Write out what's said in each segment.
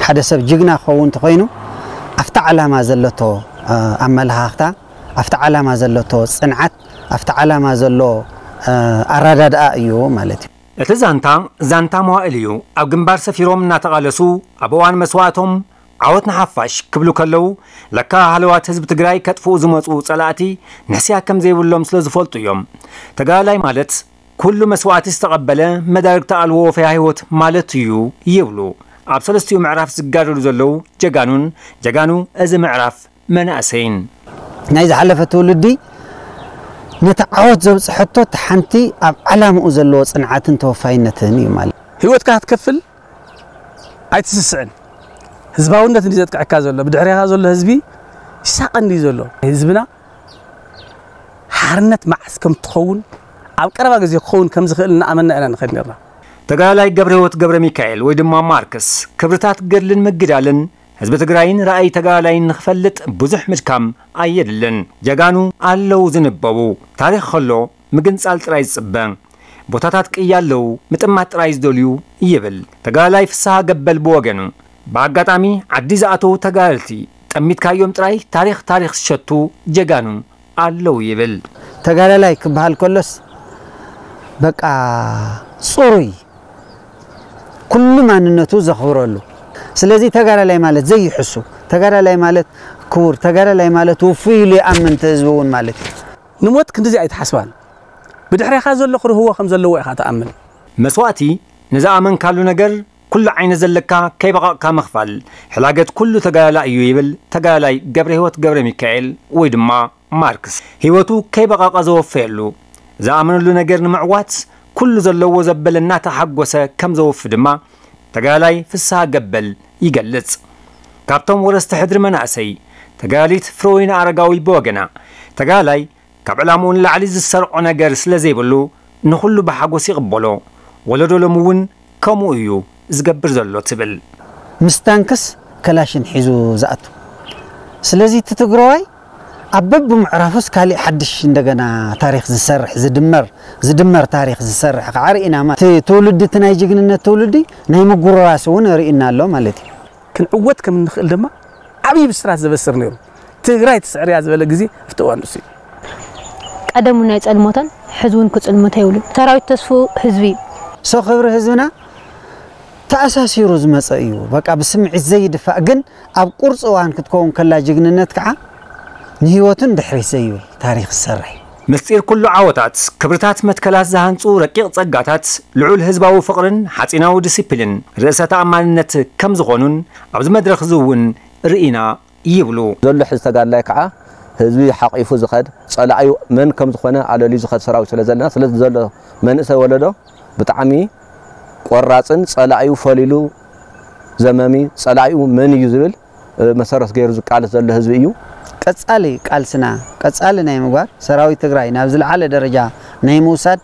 ሓደ ሰብ ጅግና ክኸውን እንተኾይኑ ኣብቲ ዓላማ ዘለቶ ኣመለኻኽታ፣ ኣብቲ ዓላማ ዘለቶ ፅንዓት፣ ኣብቲ ዓላማ ዘሎ ኣረዳድኣ እዩ ማለት እዩ። እቲ ዛንታ ዛንታ መዋእል እዩ። ኣብ ግንባር ሰፊሮም እናተቓለሱ ኣብ እዋን መስዋእቶም ዓወት ንሓፋሽ ክብሉ ከለዉ ለካ ሃለዋት ህዝቢ ትግራይ ከጥፍኡ ዝመፁ ፀላእቲ ንሕስያ ከም ዘይብሎም ስለ ዝፈልጡ እዮም። ተጋዳላይ ማለት ኩሉ መስዋእቲ ዝተቐበለ መዳርግቲ ኣልቦ ወፈያ ህይወት ማለት እዩ ይብሉ ኣብ ሰለስቲኡ ምዕራፍ ዝጋደሉ ዘለዉ ጀጋኑን ጀጋኑ እዚ ምዕራፍ መናእሰይን። ናይ ዝሓለፈ ትውልዲ ነቲ ዓወት ዘብፅሐቶ እቲ ሓንቲ ኣብ ዓላምኡ ዘለዎ ፅንዓትን ተወፋይነትን እዩ ማለት። ህይወትካ ክትከፍል ኣይትስስዕን። ህዝባውነት እንዲ ዘጥቅዐካ ዘሎ ብድሕሪኻ ዘሎ ህዝቢ ይሳቐ እንዲ ዘሎ ህዝብና ሓርነት መዓስ ከም ትኸውን ኣብ ቀረባ ግዜ ክኸውን ከም ዝኽእል እናኣመና ኢና ንኸድ ነርና። ተጋዳላይ ገብረህይወት ገብረሚካኤል ወይ ድማ ማርክስ ክብርታት ገድልን ምግዳልን ህዝቢ ትግራይን ራእይ ተጋዳላይን ንኽፈልጥ ብዙሕ ምድካም ኣየድልን። ጀጋኑ ኣለዉ ዝንበቡ። ታሪኽ ከሎ ምግንፃል ጥራይ ዝፅበ። ቦታታት ቅያ ኣለዉ ምጥማት ጥራይ ዝደልዩ ይብል ተጋዳላይ ፍስሃ ገበል ብወገኑ። ብኣጋጣሚ ዓዲ ዝኣተዉ ተጋደልቲ ጠሚትካዮም ጥራይ ታሪኽ ታሪኽ ዝሸቱ ጀጋኑ ኣለዉ ይብል። ተጋዳላይ ክበሃል ከሎስ በቃ ፅሩይ ኩሉ ማንነቱ ዘኽብረሉ። ስለዚ ተጋዳላይ ማለት ዘይሕሱ፣ ተጋዳላይ ማለት ክቡር፣ ተጋዳላይ ማለት ውፉይ ኢሉ ይኣምን እቲ ህዝቢ እውን ማለት እዩ። ንሞት ክንድዚ ኣይትሓስባን። ብድሕሬኻ ዘሎ ክርህዎ ከም ዘለዎ ኢኻ ትኣምን። መስዋእቲ ንዝኣመንካሉ ነገር ኩሉ ዓይነት ዘለካ ከይበቐቕካ ምኽፋል ሕላገት ኩሉ ተጋዳላ እዩ ይብል ተጋዳላይ ገብረህይወት ገብረሚካኤል ወይ ድማ ማርክስ ህይወቱ ከይበቐቐ ዘወፈየሉ ዝኣመነሉ ነገር ንምዕዋት ኩሉ ዘለዎ ዘበለ እናተሓጎሰ ከም ዘወፊ ድማ ተጋዳላይ ፍስሃ ገበል ይገልጽ። ካብቶም ወረስቲ ሕድሪ መናእሰይ ተጋዳሊት ፍረወይኒ ኣረጋዊ ብወገና ተጋዳላይ ካብ ዕላምኡ ንላዕሊ ዝሰርዖ ነገር ስለ ዘይብሉ ንኹሉ ብሓጎስ ይቕበሎ። ወለዶ ሎሚ እውን ከምኡ እዩ ዝገብር ዘሎ ትብል። ምስ ታንክስ ከላሽን ሒዙ ዝኣቱ። ስለዚ እቲ ትግራዋይ ኣብ በብምዕራፉስ ካሊእ ሓድሽ እንደገና ታሪክ ዝሰርሕ ዝድመር ዝድመር ታሪክ ዝሰርሕ ከዓ ርኢና ማለት እቲ ትውልዲ እቲ ናይ ጅግንነት ትውልዲ ናይ ምጉርራስ እውን ርኢና ኣሎ ማለት እዩ። ክንዕወት ከም እንኽእል ድማ ዓብዪ ብስራት ዘበስር ነይሩ። ትግራይ ትስዕር እያ ዝበለ ግዜ ኣብቲ እዋን ንሱ እዩ። ቀደም እውን ኣይጸልሞተን፣ ሕዚ እውን ክጽልምት ኣይብሉን። ሰራዊት ተስፍኡ ህዝቢ እዩ። So ክብሪ ህዝብና ተኣሳሲሩ ዝመጸ እዩ። በቃ ብስምዒት ዘይድፋእ ግን ኣብ ቁርጺ እዋን ክትከውን ከላ ጅግንነት ከዓ ንህይወቱ ንድሕሪት ዘይብል ታሪኽ ዝሰርሕ እዩ። ምስጢር ኩሉ ዓወታት፣ ክብርታት መትከላት ዝሃንጹ ረቂቕ ጸጋታት፣ ልዑል ህዝባዊ ፍቕርን ሓጺናዊ ዲሲፕሊን፣ ርእሰ ተኣማንነት ከም ዝኾኑን ኣብዚ መድረኽ እዚ እውን ርኢና ይብሉ። ዘሎ ሕዚ ተጋድላይ ከዓ ህዝቢ ሓቒፉ ዝኸድ፣ ጸላኢኡ መን ከም ዝኾነ ኣለልዩ ዝኸድ ሰራዊት ስለ ዘለና፣ ስለዚ ዘሎ መንእሰይ ወለዶ ብጣዕሚ ቆራጽን ጸላኢኡ ፈሊሉ ዘመሚ፣ ጸላኢኡ መን እዩ ዝብል መሰረት ገይሩ ዝቃለስ ዘሎ ህዝቢ እዩ። ቀጻሊ ቃልስና ቀጻሊ ናይ ምግባር፣ ሰራዊት ትግራይ ናብ ዝለዓለ ደረጃ ናይ ምውሳድ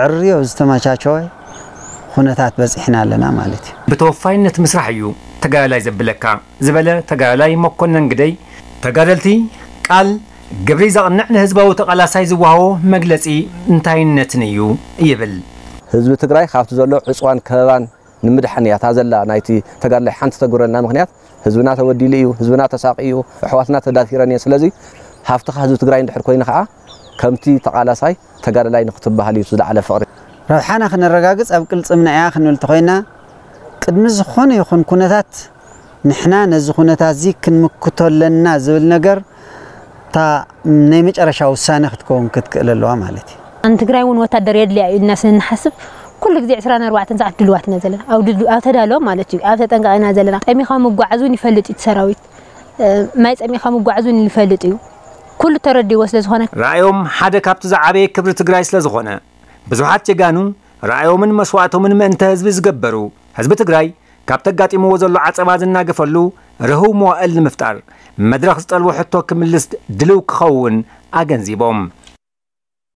ዕርዮ ዝተመቻቸወ ኩነታት በጺሕና ኣለና ማለት እዩ። ብተወፋይነት ምስራሕ እዩ ተጋዳላይ ዘብለካ ዝበለ ተጋዳላይ መኮነን ግደይ፣ ተጋደልቲ ቃል ግብሪ ዘቕንዕ ንህዝባዊ ተቓላሳይ ዝወሃቦ መግለጺ እንታይነትን እዩ ይብል። ህዝቢ ትግራይ ካብቲ ዘሎ ዕፅዋን ከበባን ንምድሓን እያ እታ ዘላ ናይቲ ተጋድላይ ሓንቲ ተግብረልና። ምኽንያት ህዝብና ተበዲሉ እዩ፣ ህዝብና ተሳቒዩ እዩ፣ ኣሕዋትና ተዳፊረን እየን። ስለዚ ሃፍትኻ ህዝቢ ትግራይ እንድሕር ኮይኑ ከዓ ከምቲ ተቓላሳይ ተጋዳላይ ንክትበሃል እዩ ዝለዓለ ፍቕሪ። ረብሓና ክነረጋግፅ ኣብ ቅልፅምና እያ ክንብል ተኾይና ቅድሚ ዝኾነ ይኹን ኩነታት ንሕና ነዚ ኩነታት እዚ ክንምክቶ ኣለና ዝብል ነገር እታ ናይ መጨረሻ ውሳነ ክትከውን ክትክእል ኣለዋ ማለት እዩ። ንትግራይ እውን ወታደር የድልያ እዩ ኢልና ስለ ንሓስብ ኩሉ ግዜ ዕስራን ኣርባዕተን ሰዓት ድልዋት ኢና ዘለና። ኣብ ድል- ኣብ ተዳሎ ማለት እዩ። ኣብ ተጠንቀቕ ኢና ዘለና። ጠሚኻ ምጓዓዝ እውን ይፈልጥ እዩ እቲ ሰራዊት። እ፣ ማይ ጸሚኻ ምጓዓዝ እውን ይፈልጥ እዩ። ኩሉ ተረዲዎ ስለ ዝኾነ። ራእዮም ሓደ ካብቲ ዝዓበየ ክብሪ ትግራይ ስለ ዝኾነ ብዙሓት ጀጋኑ ራእዮምን መስዋእቶምን ምእንተ ህዝቢ ዝገበሩ ህዝቢ ትግራይ ካብቲ ኣጋጢምዎ ዘሎ ዓጸባ ዝናገፈሉ ርህው መዋእል ንምፍጣር መድረኽ ዝጠልቦ ሕቶ ክምልስ ድልው ክኸውን ኣገንዚቦም።